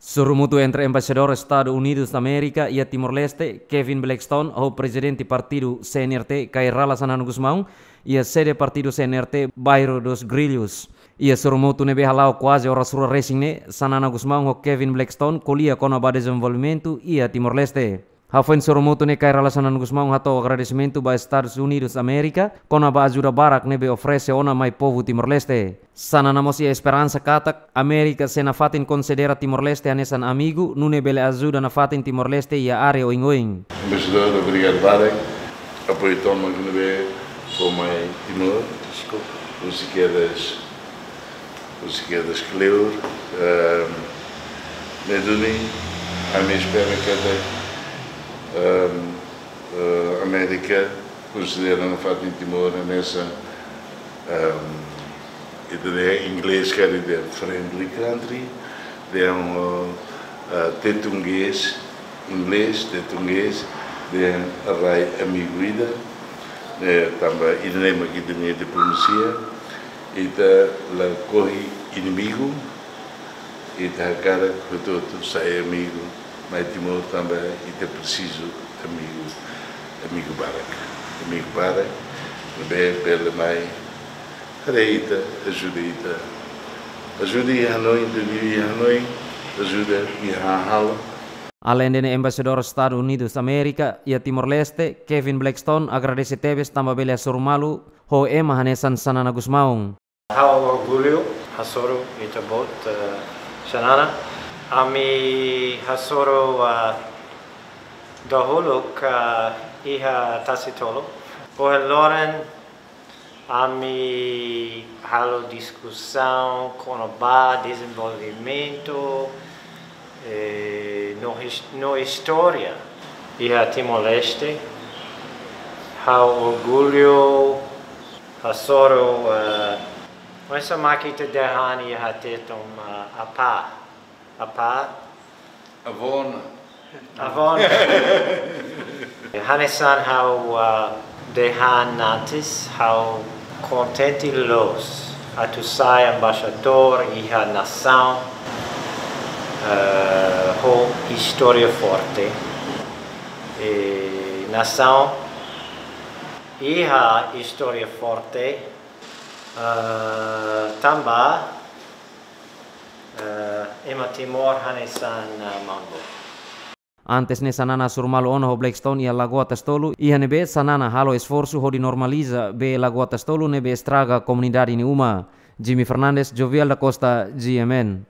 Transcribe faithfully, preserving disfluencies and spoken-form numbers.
Sorumutu entre Embaixadór Estadus Unidus Amérika iha Timor-Leste, Kevin Blackstone, ho Prezidente Partidu C N R T, Kay Rala Xanana Gusmão, iha sede Partidu C N R T, Bairro dos Grillos. Iha sorumutu ne'ebé hala'o kuaze oras rua resin ne'e, Xanana Gusmão ho Kevin Blackstone ko'alia kona-ba dezenvolvimentu iha Timor-Leste. Hafoin sorumutu ne'e, Kay Rala Xanana Gusmão hato'o agradesimentu ba Estadus Unidus Amérika kona-ba ajuda barak ne'ebé oferese ona mai povu Timor-Leste. Xanana mós iha esperansa katak Amérika sei nafatin konsidera Timor-Leste hanesan amigu, nune'e bele ajuda nafatin Timor-Leste iha área oioin. Embaixadór, obrigadu barak. Apoiu tomak ne'ebé fó mai Timor. Deskulpa. Husi kedas, husi kedas kleur. Ehm, ne'e duni, ami espera katak, ehm, eh, Amérika konsidera nafatin Timor hanesan, ehm, ita dehan inglés karik dehan friendly country, dehan, eh, tetun gees, inglés, tetun gees, dehan rai amigu ida, eh, tanba ida-ne'e mak ita-nia diplomasia, ita lakohi inimigu, ita hakarak hotu-hotu sai amigu, mai Timor tanba ita presiza amigu, amigu barak, amigu barak, ne'ebé bele mai haree ita, ajuda ita. Ajuda iha hanoin, ita vive iha hanoin, ajuda iha hahalok. Aleinde ne'e, Embaixadór Estadus Unidus Amérika iha Timor-Leste, Kevin Blackstone, agradese tebes tanba bele hasoru malu ho ema hanesan Xanana Gusmão. Ha'u orgullu hasoru ita-boot, eh, Xanana. Ami hasoru, eh, dahuluk, eh, iha Tasitolu. Ohin loron ami halo diskusaun kona-ba dezenvolvimentu, eh, no his-, no istória iha Timor-Leste. Ha'u orgullu hasoru, eh, oinsá mak ita dehan iha Tetun, eh, apá. Apá. Avó ona. Avó ona. Hanesan ha'u, ah, dehan antes, ha'u kontente loos atu sai embaixadór iha nasaun, eh, ho istória forte. E nasaun iha istória forte, eh, tanba, eh, ema Timor hanesan, eh, maun-boot. Antes ne'e Xanana hasoru malu ona ho Blackstone iha Lagoa Tasitolu, iha ne'ebé Xanana halo esforsu hodi normaliza bee Lagoa Tasitolu ne'ebé estraga komunidade nia uma. Jimmy Fernandes, Jovial da Costa, G M N.